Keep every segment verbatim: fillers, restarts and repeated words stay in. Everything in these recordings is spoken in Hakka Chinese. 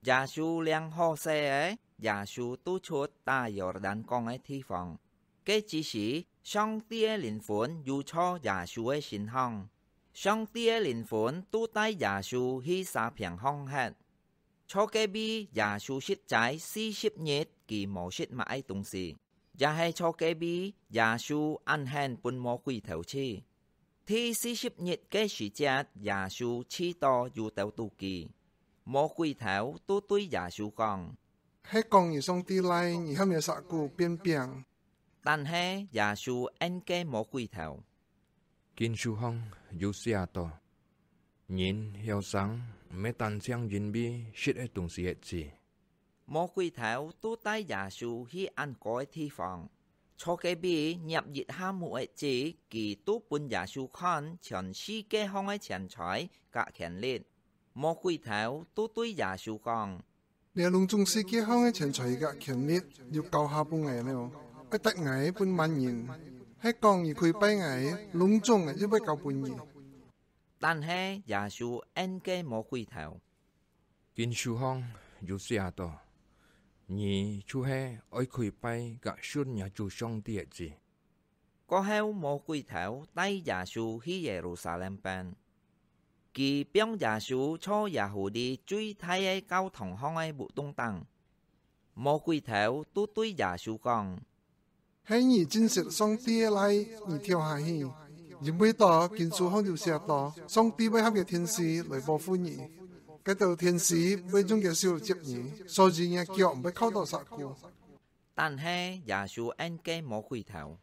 耶穌領好勢仔，耶穌就出打約旦江个地方。該之時，上帝个靈魂有坐耶穌个身項，上帝个靈魂就帶耶穌去沙坪項歇。坐該位，耶穌食齋四十日，佢無食麼个東西，也係坐該位，耶穌恁肯分魔鬼頭去。第四十日个時節，耶穌試著有兜肚飢，魔鬼頭就對耶穌講：「係講你上帝倈，你喊若石牯變餅。」但係耶穌應該魔鬼頭：「經書項有寫著：『人曉生，毋係單淨因為食个東西而止。』」魔鬼頭就帶耶穌去恁高个地方，坐該位捏一下目个子，佢就分耶穌看全世界項个錢財佮權力。魔鬼頭就對耶穌講：「這攏總世界項个錢財佮權力，又交下分𠊎了，愛值𠊎分麼人？係講你跪拜𠊎，攏總𠊎又會交分你。」但係耶穌應該魔鬼頭：「經書項有寫著：『你就係愛跪拜佮順若主上帝而止。』」過後，魔鬼頭帶耶穌去耶路撒冷變，佢放耶穌坐耶和華最大个教堂項个屋棟頂。魔鬼頭就對耶穌講：「係你真實上帝个倈，你跳下去，因為著經書項有寫著：『上帝會喊厥天使來保護你，該兜天使會用厥手接你，所以若腳毋會硞著石牯。』」但係耶穌應該魔鬼頭：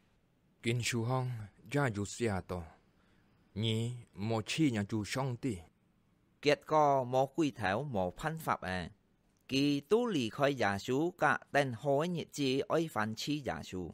「經書項也有寫著：『你莫試若主上帝。』」結果魔鬼頭無辦法仔，佢就離開耶穌，佮等好个日子愛翻試耶穌。